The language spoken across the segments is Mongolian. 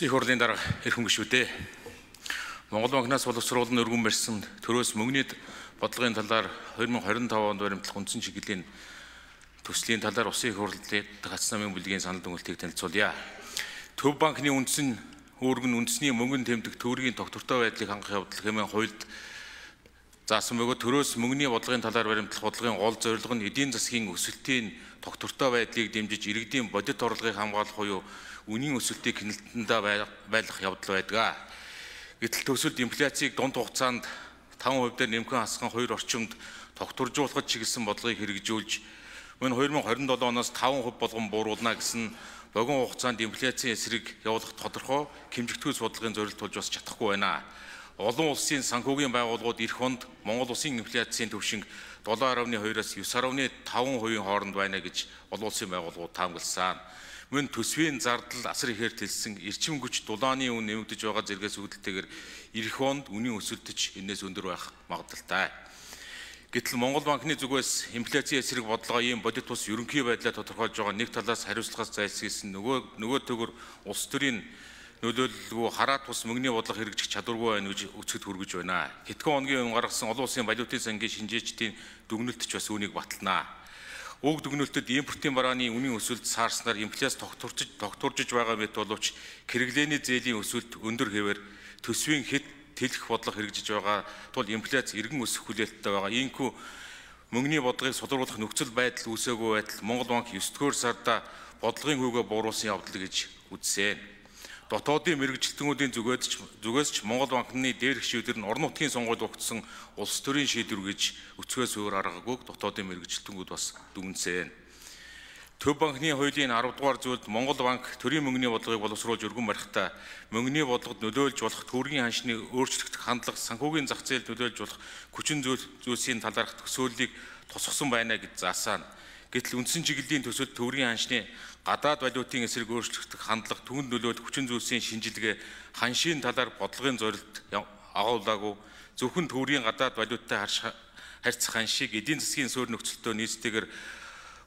Улсын их хурлын дарга эрхэм гишүүдээ Монгол банкнаас боловсруулан өргөн барьсан төрөөс мөнгөний бодлогын талаар 2025 онд баримтлах үндсэн чиглэлийн төслийн талаар Улсын их хурлын гацсан намын бүлгийн санал дүгнэлтийг танилцуулъя. Төв банкны үндсэн үүрэг нь үндэсний мөнгөнд тэмдэг төгрөгийн тогтвортой байдлыг хангах явдал хэмээн хуульд заасан бөгөөд төрөөс мөнгөний бодлогын талаар баримтлах бодлогын гол зорилго нь эдийн засгийн өсөлтийн тогтвортой байдлыг дэмжиж иргэдийн бодит орлогыг хамгаалах буюу үнийн өсөлтийг хяналтандаа байлгах явдал байдаг. Гэтэл төсөлд инфляцийг дунд хугацаанд 5% нэмхэн хасган 2 орчимд тогтворжуулахад чиглэсэн бодлогыг хэрэгжүүлж мөн 2027 оноос 5% болгон бууруулна гэсэн богино хугацаанд инфляцийн эсрэг явуулах тодорхой хэмжигдхүйц бодлогын зорилт тулж бас чадахгүй байна. Олон улсын санхүүгийн байгууллагууд эх хонд Монгол улсын инфляцийн түвшинг 7.2-аас 9.5% хооронд байна гэж олон улсын байгууллагууд таамагласан. Мөн төсвийн зардал асар ихээр тэлсэн эрчим хүч дулааны үн нэмэгдэж байгаа зэрэгс үүдэлтэйгээр эх хонд үнийн өсөлтөж энэс өндөр байх магадлалтай. Гэтэл Монгол банкны зүгээс инфляцийн эсрэг бодлогоо ийм бодит тус ерөнхий байдлаа тодорхойлж байгаа нэг талаас хариуцлагаас зайлсхийсэн нөгөө төгөр улс төрийн нөлөөлөлгүй хараат тус мөнгөний бодлого хэрэгжих чадваргүй байна гэж өцгөд хүргэж байна. Хэдхэн хоногийн өмнө гаргасан олон улсын валютын сангийн шинжээчдийн дүгнэлтч бас үүнийг батална. Уг дүгнэлтэд импортын барааны үнийн өсөлт саарснаар инфляц тогтворжиж байгаа мэт боловч хэрэглээний зээлийн өсөлт өндөр хэвээр төсвийн хэд тэлэх бодлого хэрэгжиж байгаа тул инфляц эргэн өсөх хүлээлттэй байгаа. Иймээс мөнгөний бодлогыг сулруулах нөхцөл байдал үүсээгүй байтал Монгол банк 9-р сарда бодлогын хүүгээ бууруулсан явдал гэж үзсэн. Дотоодын мэргэжилтнүүдийн зүгээс ч Монгол банкны дээрх шийдвэр нь орон нутгийн сонгуульд өгсөн улс төрийн шийдвэр гэж өцгөөс өөр аргагүй дотоодын мэргэжилтнүүд бас дүгнсэн. Төв банкны хуулийн 10 дугаар зүйлд Монгол банк төрийн мөнгөний бодлогыг боловсруулж өргөн барихдаа мөнгөний бодлогод нөлөөлж болох төгрөгийн ханшны өөрчлөгдөх хандлага санхүүгийн зах зээлд нөлөөлж болох хүчин зүйлсийн талаарх төсөөллийг тусгасан байна гэж заасан. Гэтэл үндсэн чиглэлийн төсөлд төгрөгийн ханшны гадаад валютын эсрэг өөрчлөгдөх хандлага түүнд нөлөөлөх хүчин зүйлсийн шинжилгээ ханшийн талаар бодлогын зорилт агуулаагүй зөвхөн төгрөгийн гадаад валюттай харьцах ханшийг эдийн засгийн суурь нөхцөлтөө нийцтэйгээр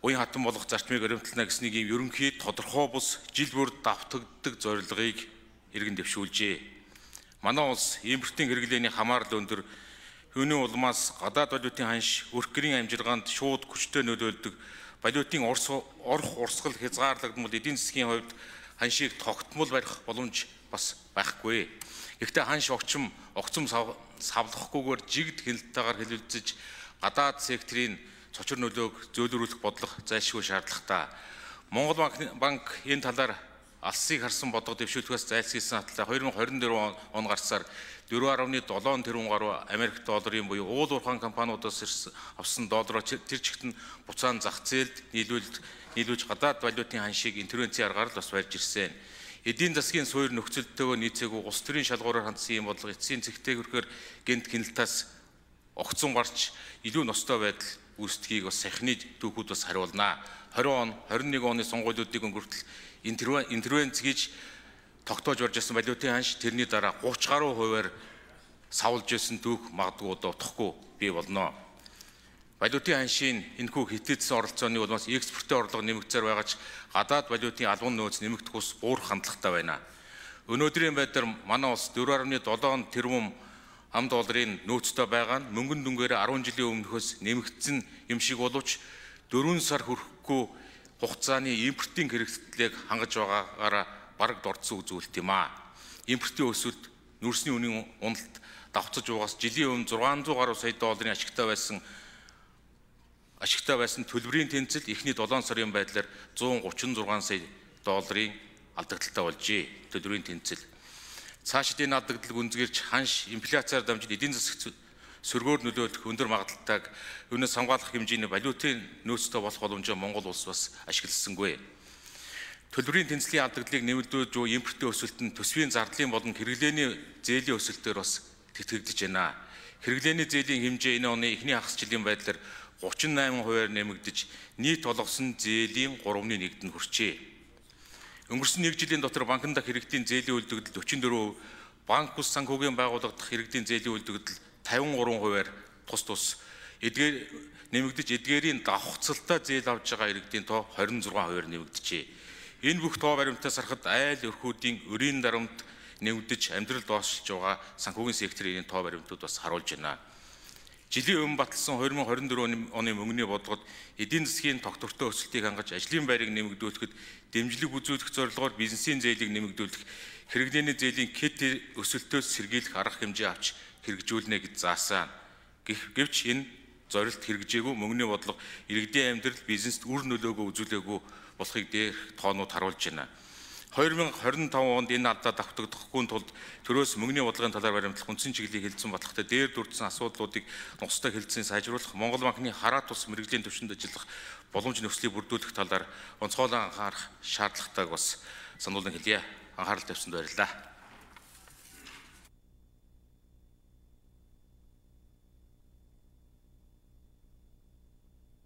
уян хатан болох зарчмыг баримтлана гэснийг ийм ерөнхий тодорхой бус жил бүр давтагддаг зорилгыг иргэн дэвшүүлжээ. Манай улс импортын хэрэглээний хамаарлал өндөр, түүний улмаас гадаад валютын ханш өрх гэрийн амжилгаанд шууд хүчтэй нөлөөлдөг, валютын орох урсгал хязгаарлагдмал эдийн засгийн хувьд ханшийг тогтмол барих боломж бас байхгүй. Гэхдээ ханш огцом савлахгүйгээр жигд хяналтайгаар хэлэлцэж гадаад секторын цочор нөлөөг зөөлрүүлэх бодлого зайлшгүй шаардлагатай. Монгол банк энэ талаар алсыг харсан бодлого дэвшүүлэхээс зайлсхийсэн хатлаа 2024 он гарсаар 4.7 тэрбум гаруй Америк долларын буюу уул уурхайн компаниудаас авсан доллароо тэр чигт нь буцаан зах зээлд нийлүүлж гадаад валютын ханшийг интервенцийн аргаар л бас барьж ирсэн. Эдийн засгийн суурь нөхцөлтөөгөө нийцээгүй улс төрийн шалгуураар хандсан ийм бодлого эцсийн зэгтэйгүрхээр гэнт гинэлтаас огцон гарч илүү ностой байдал үүсдгийг бас сахины дүүхүүд бас хариулна. 20 он 21 оны сонгуулиудыг өнгөртөл интервенц гэж тогтоож барьж ирсэн валютын ханш тэрний дараа 30 гаруй хувиар савлж ирсэн дүүх магадгүй удахгүй бий болно. Валютын ханшийн энэхүү хэтээдсэн оролцооны улмаас экспортын орлого нэмэгдсээр байгаа ч гадаад валютын албан нөөц нэмэгдэх ус буурах хандлагатай байна. Өнөөдрийн байдлаар манай улс 4.7 тэрбум ам долларын нөөцтэй байгаа нь мөнгөн дүнгээр 10 жилийн өмнөхөөс нэмэгдсэн юм шиг боловч 4 сар хүрэхгүй хугацааны импортын хэрэгслийг хангаж байгаагаараа бараг дордсон үзүүлэлт юм аа. Импортын өсөлт нүрсний үнийн уналт давцаж байгаас жилийн өмнө 600 гаруй сая долларын ашигтай байсан төлбөрийн тэнцэл эхний 7 сарын байдлаар 136 сая долларын алдагдaltaй болжээ. Төлбөрийн тэнцэл. Цаашид энэ алдагдлыг үнзгэрч ханш инфляциар дамжиж эдийн засаг сөргөөр нөлөөлөх өндөр магадaltaйг үүнээс хамгаалах хэмжээний валютын нөөцтэй болох боломжоо Монгол улс бас ашигласангүй. Төлбөрийн тэнцлийн алдагдлыг нэмэгдүүлж буй импортын өсөлт нь төсвийн зардлын болон хэрэглээний зээлийн өсөлтөөр бас тэтгэгдэж байна. Хэрэглээний зээлийн хэмжээ энэ оны эхний хагас жилийн байдлаар 38% нэмэгдэж нийт олгосон зээлийн 3/1-д хүрчээ. Өнгөрсөн 1 жилийн дотор банкнд дах иргэдийн зээлийн үлдэгдэл 44%, банк бус санхүүгийн байгууллага дах иргэдийн зээлийн үлдэгдэл 53%-аар тус эдгээр нэмэгдэж эдгээрийн давхцалтай зээл авж байгаа иргэдийн тоо 26%-аар нэмэгдэжээ. Энэ бүх тоо баримтаас харахад айл өрхүүдийн өрийн дарамт нэвдэж амьдрал дуусч байгаа санхүүгийн секторын тоо баримтууд бас харуулж байна. Жилийн өмнө баталсан 2024 оны мөнгөний бодлогод эдийн засгийн тогтвортой өсөлтийг хангаж ажлын байрыг нэмэгдүүлэхэд дэмжлэг үзүүлэх зорилгоор бизнесийн зээлийг нэмэгдүүлэх, хэрэглээний зээлийн КЭТ өсөлтөөс сэргийлэх арга хэмжээ авч хэрэгжүүлнэ гэж заасан. Гэвч энэ зорилт хэрэгжээгүй мөнгөний бодлого иргэдийн амьдрал бизнест үр нөлөөгөө үзүүлээгүй болохыг дээрх тоонууд харуулж байна. 2025 онд энэ алдаа давтагдахгүй тулд төрөөс мөнгөний бодлогын талаар баримтлах үндсэн чиглэлийг хэлэлцэн баталгатай дээр дурдсан асуудлуудыг нухацтай хэлэлцэн сайжруулах, Монгол банкны хараа тус мэрэгжлийн төвшөнд ажиллах боломж нөхцөлийг бүрдүүлэх талаар онцгойлон анхаарах шаардлагатайг бас сануулсан хэлье. Анхаарал тавьсанд баярлалаа.